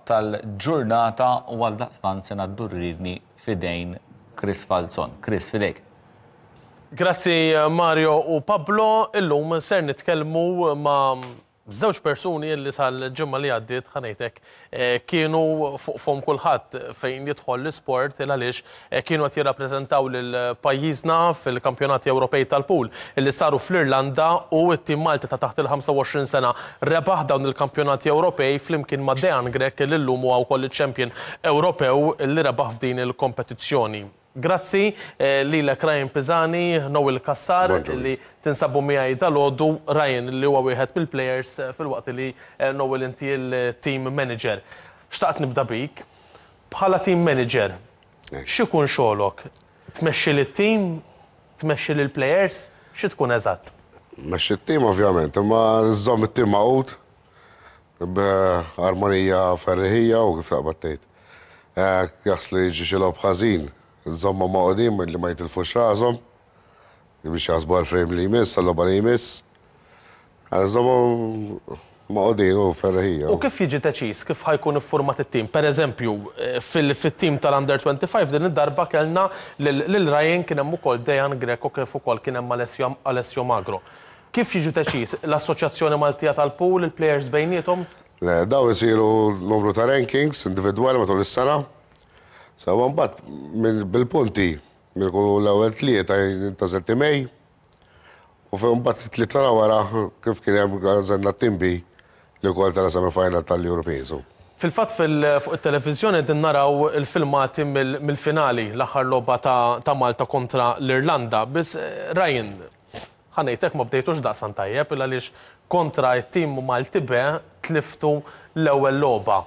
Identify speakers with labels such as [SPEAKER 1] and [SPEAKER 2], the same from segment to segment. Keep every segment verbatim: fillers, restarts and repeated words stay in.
[SPEAKER 1] tal-ġurnata u għaldaqstant se ngħaddu r-riedni f'idejn Chris Falzon. Chris, f'idejk.
[SPEAKER 2] Grazzi, Mario u Pablo. Illum ser nitkellmu ma' żewġ persuni li sal-ġimgħa li għaddiet, ħa ngħidlek, kienu fuq fomm kulħadd fejn jidħol l-isport, għaliex kienu qed jirrappreżentaw lil pajjiżna fil-Kampjonati Ewropej tal-Pool li saru fl-Irlanda, u t-tim Malti ta' taħt il-ħamsa u għoxrin sena rebaħ dawn il-Kampjonati Ewropej flimkien ma' Dejan Grech, li llum huwa wkoll iċ-champion Ewropew li rebaħ f'din il-kompetizzjoni. Grazzi lilek, Ryan Pisani, Noel Cassar, li tinsabu miegħi dalgħodu. Ryan li huwa wieħed mill-players, filwaqt li Noel, inti il-team manager. Xtaqt nibda bik. Bħala team manager, x'ikun xogħolok? Tmexxi lit-team, tmexxi lill-players, xi tkun eżatt?
[SPEAKER 3] Mexxi t-team ovvjament, imma żżomm it-team magħqud b'armonija ferriħija u kif taqbad tgħid. Jaħslu jiġi xi logħob ħażin, żommhom magħqudin li ma jitilfux rashom biex jaħsbu għal-frame li jmiss, għal-logħba li jmiss. Żommhom magħqudin u ferriħija.
[SPEAKER 2] U kif jiġi deċiż kif ħa jkun iffurmat it-tim? Per eżempju, fil-tim tal-Under twenty-five din id-darba kellna lil Ryan, kien hemm ukoll Dejan Greco, kif ukoll kien hemm Alessio Magro. Kif jiġu deċiż? L-Assoċjazzjoni Maltija tal-Pool, il-players bejniethom?
[SPEAKER 3] Le, daw isiru numru ta' rankings individwali matul is-sena. Sawa, mbagħad bil-punti minn ikunu l-ewwel tlieta jintgħażel team A. U fejn mbagħad tlieta wara, kif kien hemm, għażelna team B li wkoll tela' semifinal tal-Europeans.
[SPEAKER 2] Fil-fatt, fuq it-televiżjoni din naraw il-filmati mill-finali, l-aħħar logħba ta' Malta kontra l-Irlanda. Biss, Ryan, ħa ngħidlek, ma bdejtux daqstant tajjeb, għaliex kontra t-tim Malti B tliftu l-ewwel logħba.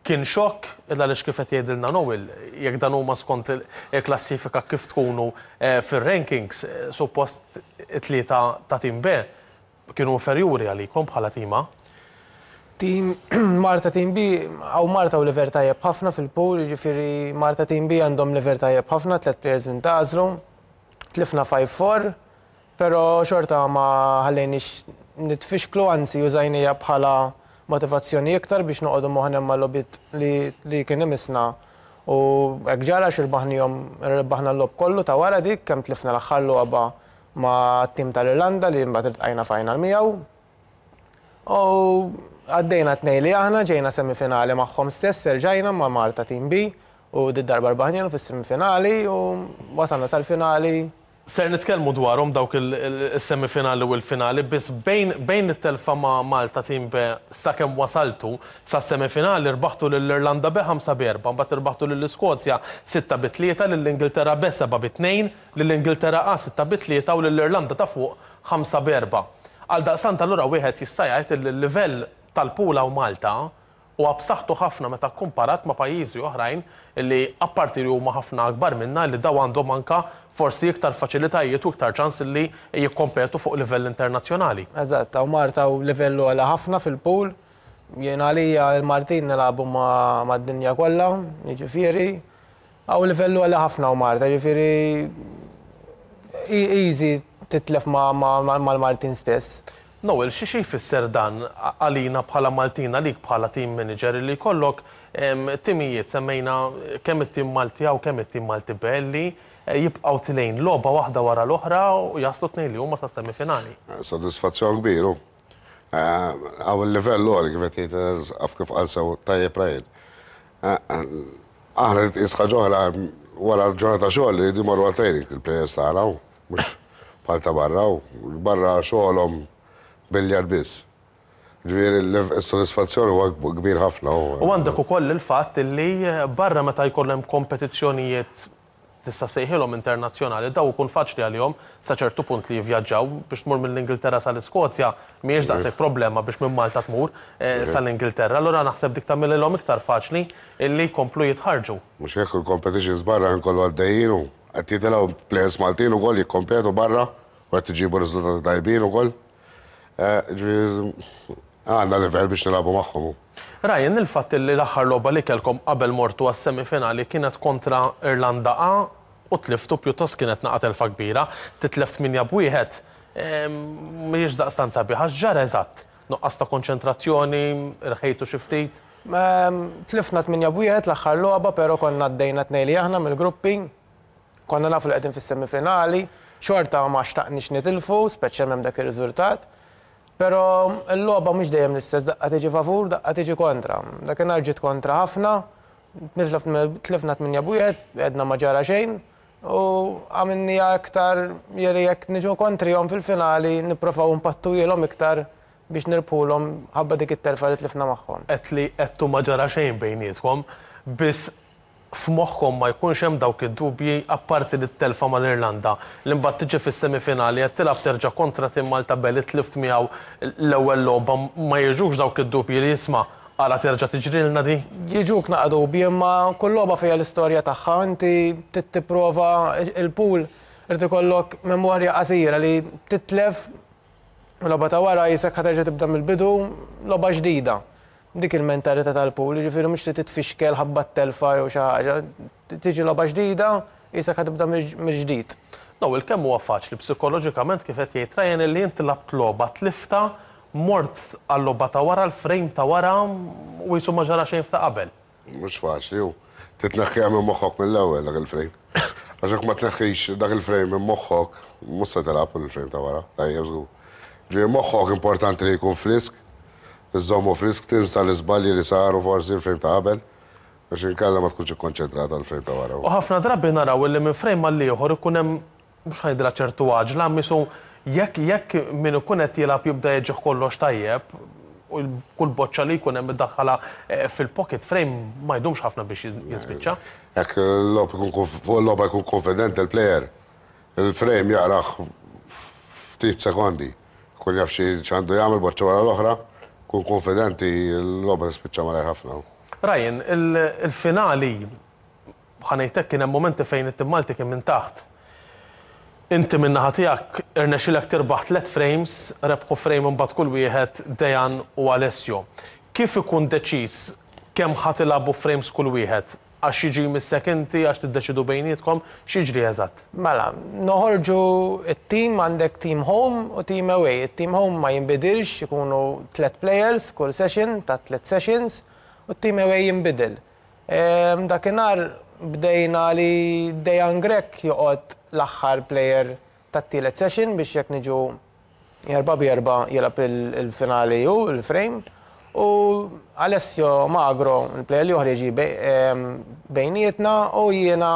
[SPEAKER 2] Kien xokk, għaliex kif qed jgħidilna Noel, jekk dan huma skont il-klassifika kif tkunu fir-rankings, suppost it-tlieta ta' tim B kienu inferjuri għalikom bħala tim A.
[SPEAKER 4] Team Malta Team B, għaw Malta u level tajjeb ħafna fil-pool, ġifieri Malta Team B għandhom level tajjeb ħafna, tlet players minn tażlu, tlifna ħamsa erba', pero xorta ma ħallejniex nitfixklu, anzi użajnieha bħala motivazzjoni iktar biex noqogħdu moħħna mal-logħbiet li, li kien imisna. U hekk ġara, x'irbaħnihom, rbaħna l-logħob kollu ta' wara dik, kemm tlifna l-aħħar logħba ma' tim tal-Irlanda li mbagħad iltqajna final miegħu. U għaddejna tnejn li aħna ġejna semifinali magħhom stess, erġajna ma' Malta Team B u d-darba rbaħnielu fis-semifinali u wasalna sal-finali.
[SPEAKER 2] Ser nitkellmu dwarhom dawk il-semifinali u l-finali, biss bejn bejn it-telfa ma' Malta Team B sakemm wasaltu sa semifinali, rbaħtu lill-Irlanda B ħamsa b'erba', mbagħad irbaħtu lill-Iskozja sitta bi tlieta, lill-Ingilterra B seba' bi tnejn, lill-Ingilterra A sitta bi tlieta u lill-Irlanda ta' fuq ħamsa b'erba'. Għal daqstant allura wieħed jista' jgħid il-livell tal-pool u Malta u b'saħħtu ħafna meta kumparat ma' pajjiżi oħrajn li apparti li huma ħafna akbar minna, li daw għandhom anka forsi iktar faċilitajiet u iktar ċans li jikkompetu fuq livell internazzjonali.
[SPEAKER 4] Eżatt, u Malta u livellu għoli ħafna fil-pool. Jien għalija il-Maltin nilagħbu ma' d-dinja kollha, jiġifieri. Għaw livellu għoli ħafna u Malta, jiġifieri easy titlef mal-Maltin stess.
[SPEAKER 2] Noel, xi xi jfisser dan għalina bħala Maltin, għalik bħala team manager, li jkollok timijiet, semmejna kemm it-tim Malti u kemm it-tim Malti B, li jibqgħu telgħin logħba waħda wara l-oħra u jaslu tnejn li huma sa semifinali?
[SPEAKER 3] Sodisfazzjon kbir. Għaw il-livell għoli, kif qed għaf kif qal sew tajjeb Ryan. Aħna tqis ħaġa oħra, wara l-ġurnata xogħol li jridu jmorru għal-training il-players tagħna, mhux bħal ta' barra, barra xogħolhom billiard biss. Ġifieri s-sodisfazzjoni huwa kbir ħafna.
[SPEAKER 2] U għandek ukoll il-fatt li barra meta jkollhom kompetizzjonijiet, tista' sejħilhom internazzjonali, daw ikun faċli għalihom sa ċertu punt li jivvjaġġaw. Biex tmur mill-Ingilterra sal-Iskozja mhijiex daqshekk problema biex minn Malta tmur eh, sal-Ingilterra. Allura naħseb dik tagħmilhom iktar faċli illi jkomplu jitħarġu.
[SPEAKER 3] Mhux hekk, il-competitions barra nkollu għaddejjin u qed jitilgħu players Maltin ukoll jikkompetu barra u qed iġibu riżultati tajbin ukoll. Eh, ġifieri għandna livell biex nilagħbu magħhom.
[SPEAKER 2] Ryan, il-fatt li l-aħħar logħba li kellkom qabel mortu għas-semifinali kienet kontra Irlanda A u tliftu, pjuttost kienet naqa telfa kbira, titlef tmienja b'wieħed, mhijiex daqstant sabiħa. X'ġara eżatt? Nuqqas ta' konċentrazzjoni, rħejtu xi ftit?
[SPEAKER 4] Tlifna tmienja b'wieħed l-aħħar logħba, però konna għaddejna tnejn li aħna mill-gruppi. Konna nafu li qegħdin fis-semifinali, xorta ma xtaqniex nitilfu, speċjalment dak ir-riżultat. Però l-logħba mhux dejjem l-istess, daqqa tiġi favur, daqqa tiġi kontra. Dakinhar ġiet kontra ħafna, tlifna tmienja b'wieħed, għedna ma ġara xejn, u għamilniha iktar jeri jekk niġu kontrihom fil-finali nipprovaw npattujilhom iktar biex nirbħulhom ħabba dik it-telfa li tlifna magħhom.
[SPEAKER 2] Għedt li għedtu ma ġara xejn bejnietkom, biss f'moħħkom ma jkunx hemm dawk id-dubji apparti li t-telfa mal-Irlanda. Li mbagħad tiġi fis-semifinali qed tilgħab terġa' kontra tim Malta B li tlift miegħu l-ewwel logħba, ma jiġux dawk id-dubji li jisma' għala terġa' tiġrilna di?
[SPEAKER 4] Jiġuk naqa dubji, imma kull logħba fiha l-istorja tagħha, inti trid tipprova il-pool irid ikollok memorja qasira li titlef logħba ta' wara jisek ħa terġa' tibda mill-bidu, logħba ġdida. Dik il-mentalità tal-pool, jiġifieri mhux li titfixkel ħabba t-telfa jew xi ħaġa, tiġi logħba ġdida, jisek ħa tibda mill-ġdid.
[SPEAKER 2] Noel, kemm huwa faċli psikoloġikament kif qed jgħid Ryan li inti labt logħba tlifta, mort għal-logħba ta' wara, l-frame ta' wara u jisu ma ġara xejn f'ta' qabel.
[SPEAKER 3] Mhux faċli, hu. Titneħħiha minn moħħok mill-ewwel dak il-frame. Għax jekk ma tneħħix dak il-frame minn moħħok, mhux se tilgħab il-frame ta' wara, tajjeb żgur. Ġifieri moħħok importanti li jkun frisk, iżommu frisk, tinsa l-iżbalji li saru forsi l-frame ta' qabel, biex inkella ma tkunx ikkonċentrata għal-frame ta' wara.
[SPEAKER 2] U ħafna drabi naraw li minn frame għal ieħor ikun hemm mhux ħajdra ċertu għaġla, misu jekk jekk min ikun qed jilgħab jibda jiġih kollox tajjeb, u kull boċċa li jkun hemm iddaħħalha fil-pocket frame ma jdumx ħafna biex jispiċċa.
[SPEAKER 3] Jekk il-logħob ikun fuq il-logħba jkun konfident il-player, il-frame jaqrah ftit sekondi. Kun jaf xi x'għandu jagħmel boċċa wara l-oħra, kun konfidenti l-logħba jispiċċa malajr ħafna.
[SPEAKER 2] Ryan, il-finali ħa ngħidlek kien hemm momenti fejn it-tim Malti kien minn taħt. Inti minn naħa tiegħek irnexxilek tirbaħ tliet frames, rebħu frame imbagħad kull wieħed Dejan u Alessio. Kif ikun deċiż kemm ħa tilagħbu frames kull wieħed? Għax jiġi missek inti, għax tiddeċidu bejnietkom, x'jiġri eżatt?
[SPEAKER 4] Mela, noħorġu it-team, għandek team home u team away. It-team home ma jinbidilx, ikunu tliet players kull session, ta' tliet sessions, u t-team away jinbidel. Dakinhar bdejna li Dejan Grech joqgħod l-aħħar player tat-tielet session biex jekk niġu erba' b'erba' jilgħab il-finali u il-frame. U Alessio Magro, il-player li oħra jiġi bejnietna u jiena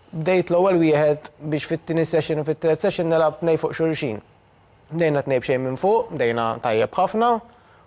[SPEAKER 4] bdejt l-ewwel wieħed biex fit-tieni session u fit-tielet session nilgħab tnej fuq xulxin. Bdejna tnej b'xejn minn fuq, bdejna tajjeb ħafna,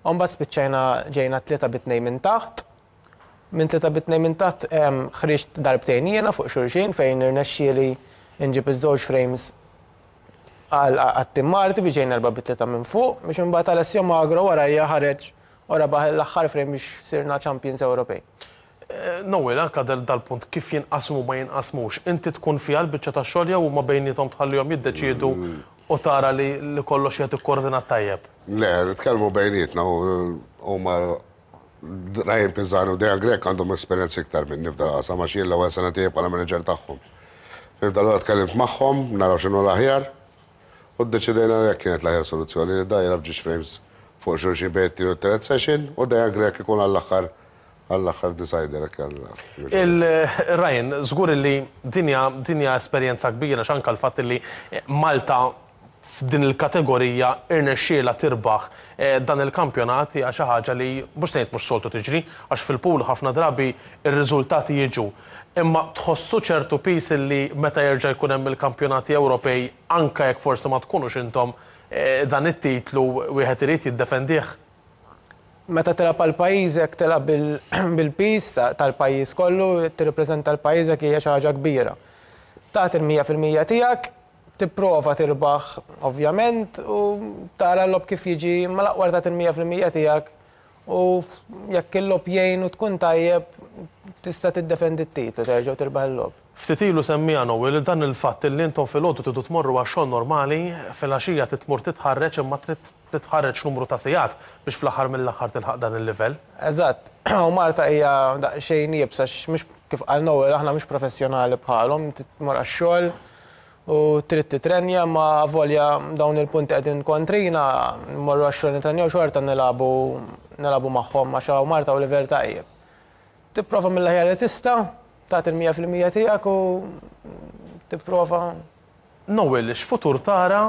[SPEAKER 4] u mbagħad spiċċajna ġejna tlieta bi tnejn minn taħt. Minn tlieta bi tnejn minn taħt ħriġt darbtejn jiena fuq xulxin fejn irnexxieli nġib iż-żewġ frames għat-tim Malti biex ġejna erba' bi tlieta minn fuq biex imbagħad Alessio Magro warajja ħareġ u rebaħ l-aħħar frame biex sirna champions Ewropej.
[SPEAKER 2] Noel, anka dal-punt kif jinqasmu ma jinqasmux, inti tkun fiha l-biċċa tax-xogħol jew huma bejniethom tħallihom jiddeċiedu u tara li kollox qed ikkoordinat tajjeb?
[SPEAKER 3] Le, nitkellmu bejnietna huma Ryan Pisani u Dejan Grech għandhom esperjenza iktar minni f'dal qasam għax jien l-ewwel sena tiegħi bħala manager tagħhom. Fim tal tkellimt magħhom, naraw x'inhu l-aħjar, u ddeċidejna li kienet l-aħjar soluzzjoni li da jilgħab żewġ frames fuq xulxin bejn it-tieni u t-tielet session u Dejan Grech ikun għall-aħħar għall-aħħar decider.
[SPEAKER 2] Il-Ryan, żgur li dinja dinja esperjenza kbira x'anka l-fatt li Malta f'din il-kategorija irnexxiela tirbaħ dan il-kampjonat hija xi ħaġa li mhux se ngħid mhux soltu tiġri għax fil-pool ħafna drabi ir-riżultati jiġu. Imma tħossu ċertu piż li meta jerġa' jkun hemm il-kampjonati Ewropej anke jekk forsi ma tkunux intom dan it-titlu wieħed irid jiddefendih.
[SPEAKER 4] Meta tilgħab għal pajjiżek tilgħab bil-piż tal-pajjiż kollu, tirrappreżenta l-pajjiżek hija xi ħaġa kbira. Tagħti l-mija fil-mija tiegħek, tipprova tirbaħ ovvjament u tara l-logħob kif jiġi, ma l-aqwa tagħti l-mija fil-mija tiegħek u jekk il-logħob jgħin u tkun tajjeb tista' tiddefendi t-titlu terġa' tirbaħ il-logħob.
[SPEAKER 2] Ftit ilu semmija Noel dan il-fatt li intom filgħodu tridu tmorru għax-xogħol normali, filgħaxija titmur titħarreġ imma trid titħarreġ numru ta' sigħat biex fl-aħħar mill-aħħar tilħaq dan il-livell.
[SPEAKER 4] Eżatt, u Malta hija daqsxejn iebsa mhux kif qal Noel aħna mhux professjonali bħalhom, tmur għax-xogħol u trid titrenja ma volja dawn il-punti qegħdin kontrina, mmorru għax-xogħol nitrenjaw xorta nilagħbu nilagħbu magħhom għax hawn Marta u level tajjeb. Tipprova mill-aħjar li tista', tagħti il-mija fil-mija tiegħek u tipprova.
[SPEAKER 2] Noel, x'futur tara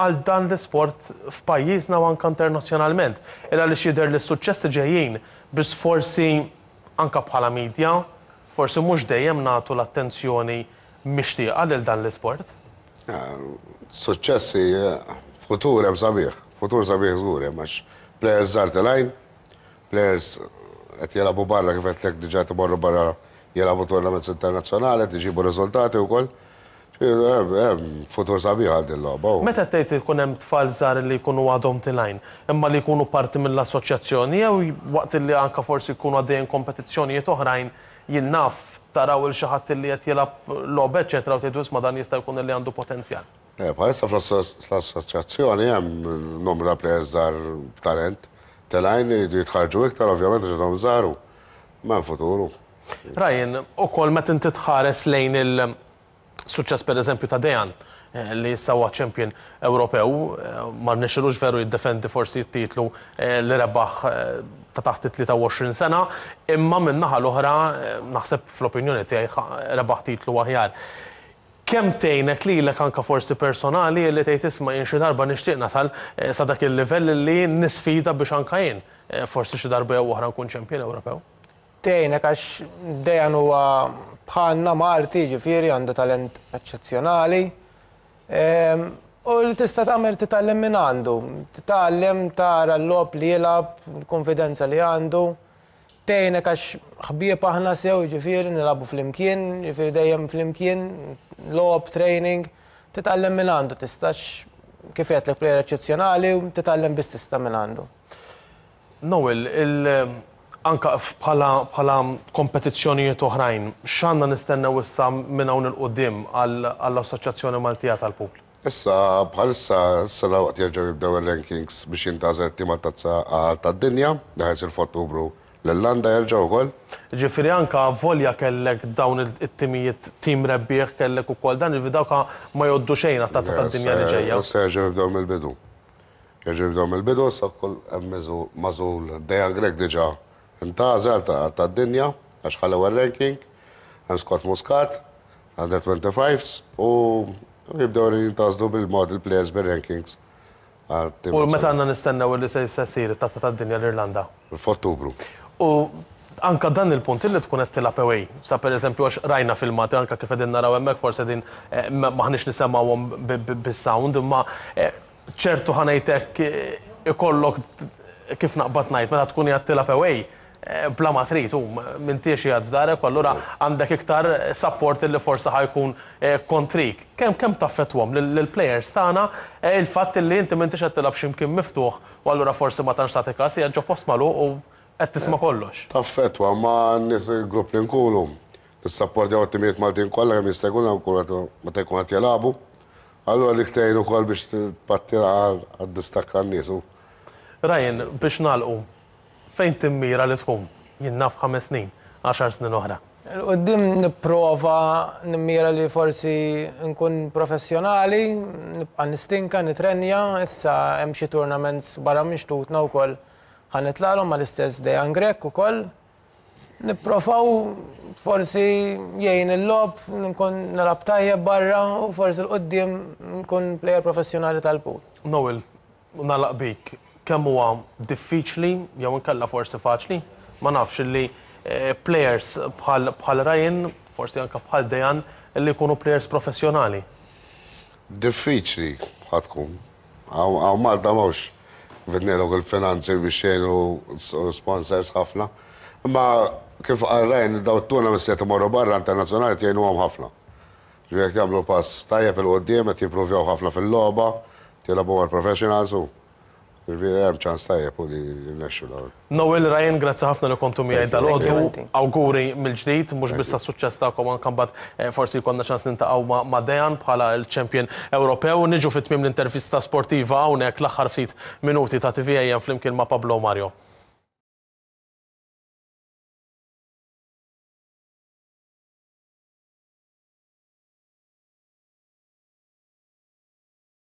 [SPEAKER 2] għal dan l-isport f'pajjiżna u anke internazzjonalment? Illa li jidher li s-suċċessi ġejjin, biss forsi anka bħala media, forsi mhux dejjem nagħtu l-attenzjoni mixtieqa lil dan l-isport.
[SPEAKER 3] Suċċessi, futur hemm sabiħ, futur sabiħ żgur hemm għax players żgħar telgħin, players qed jilagħbu barra, kif qed diġà imorru barra jilagħbu tournaments internazzjonali, qed iġibu riżultati wkoll. Hemm futur sabiħ għal din logħba.
[SPEAKER 2] Meta tgħid ikun hemm tfal żgħar li jkunu għadhom telgħin, imma li jkunu parti mill-assoċjazzjoni jew waqt li anka forsi jkunu għaddejjin kompetizzjonijiet oħrajn, jien naf, taraw il xi ħadd li qed jilgħab logħba eċetera u tgħidu, "Isma', dan jista' jkun li għandu potenzjal"?
[SPEAKER 3] Eh, bħalissa fl-assoċjazzjoni hemm numru ta' players żgħar b'talent. Telgħin, jridu jitħarġu iktar ovvjament għax għadhom żgħar, ma hemm futuru.
[SPEAKER 2] Ryan, ukoll meta inti tħares lejn il-suċċess per eżempju ta' Dejan, eh, li issa huwa champion Ewropew, eh, ma rnexxilux veru jiddefendi forsi t-titlu eh, li rebaħ ta' taħt it-tlieta u għoxrin sena, imma minn naħa l-oħra naħseb fl-opinjoni tiegħi rebaħ titlu aħjar. Kemm tgħinek lilek anka forsi personali li tgħid, "Isma', jien xi darba nixtieq nasal sa dak il-livell li nisfida biex anka jien forsi xi darba jew oħra nkun champion Ewropew"?
[SPEAKER 4] Tgħinek għax Dejan huwa bħalna Malti, ġifieri għandu talent eċċezzjonali. U li tista' tagħmel, titgħallem minn għandu. Titgħallem, tara l-logħob li jilgħab, l-konfidenza li għandu. Tgħinek għax ħbieb aħna sew, ġifieri nilagħbu flimkien, ġifieri dejjem flimkien, logħob, training. Titgħallem minn għandu, tistax kif għedtlek, player eċċezzjonali u titgħallem biss tista' minn għandu.
[SPEAKER 2] Noel, il anka bħala bħala kompetizzjonijiet oħrajn, x'għandna nistennew issa minn hawn 'il quddiem għall-Assoċjazzjoni Maltija tal-Pool?
[SPEAKER 3] Issa bħalissa issa waqt jerġgħu jibdew ir-rankings biex jintgħażel tim tazza tad-dinja li ħa jsir f'Ottubru l-Irlanda jerġgħu wkoll.
[SPEAKER 2] Ġifieri anka volja kellek dawn it-timijiet, tim rebbieħ kellek ukoll dan, il dawka ma jgħoddu xejn għat-tazza tad-dinja li ġejja.
[SPEAKER 3] Issa jerġgħu jibdew mill-bidu. Jerġgħu jibdew mill-bidu, sa kull hemm magħżul Dejan Grech, diġà intgħażel tad-dinja għax ħa l-ewwel ranking, hemm Scott Muscat, under twenty-fives, u jibdew jintgħażlu bil-mod il-players bil-rankings.
[SPEAKER 2] U meta għandna nistennew li se jsir it-tazza tad-dinja l-Irlanda?
[SPEAKER 3] F'Ottubru.
[SPEAKER 2] U anka dan il-punt li tkun qed tilgħab away. Sa per eżempju għax rajna filmati anka kif qegħdin naraw hemmhekk, forsi din eh, maħniex nisemgħuhom bis-sound, imma eh, ċertu ħa ngħidlek eh, ikollok, kif naqbad ngħid, meta tkun qed tilgħab away bla ma trid u m'intix qiegħed f'darek, u allura għandek iktar support li forsi ħa jkun kontrik. Kemm kemm taffettwahom lill-players tagħna il-fatt li inti m'intix qed tilgħab x'imkien miftuħ u allura forsi ma tantx tagħti każ, hija ġo post magħluq u qed tisma' kollox?
[SPEAKER 3] Taffettwa, ma n-nies, il-grupp li nkunu, nissapportjaw it-timijiet Maltin kollha kemm jista' jkun meta jkun qed jilagħbu. Allura dik tgħin ukoll biex tpatti għad-distakk tan-nies.
[SPEAKER 2] Ryan, biex nagħlqu, fejn timmira li tkun? Jien naf, ħames snin, għaxar snin oħra.
[SPEAKER 4] Quddiem nipprova nimmira li forsi nkun professjonali, nibqa' nistinka, nitrenja, issa hemm xi tournaments barra minn xtutna wkoll ħa nitlagħlhom mal-istess Dejan Grech ukoll. Nipprovaw forsi jgħin il-logħob, nkun nilgħab tajjeb barra u forsi 'l quddiem nkun player professjonali tal-pool.
[SPEAKER 2] Noel, nagħlaq bik, kemm huwa diffiċli jew inkella forsi faċli, ma nafx, li eh, players bħal bħal Ryan, forsi anka bħal Dejan, li jkunu players professjonali?
[SPEAKER 3] Diffiċli ħa tkun. Hawn Malta mhux vidnilok il-finanzi biex jgħinu sponsors ħafna. Imma kif qal Ryan, daw t-tournaments li imorru barra internazzjonali jgħinuhom ħafna. Ġifieri jagħmlu pass tajjeb 'il quddiem, qed jimprovjaw ħafna fil-logħba, jilagħbu mal-professionals u ġifieri hemm ċans tajjeb u li jirnexxu l
[SPEAKER 2] Noel, Ryan, grazzi ħafna li kontu miegħi dalgħodu. Awguri mill-ġdid, mhux biss suċċess tagħkom, anke mbagħad eh, forsi jkollna ċans niltaqgħu ma' Dejan bħala l-champion Ewropew. Niġu fit-tmiem l-intervista sportiva hawnhekk, l-aħħar ftit minuti ta' T V A M flimkien ma' Pablo Mario.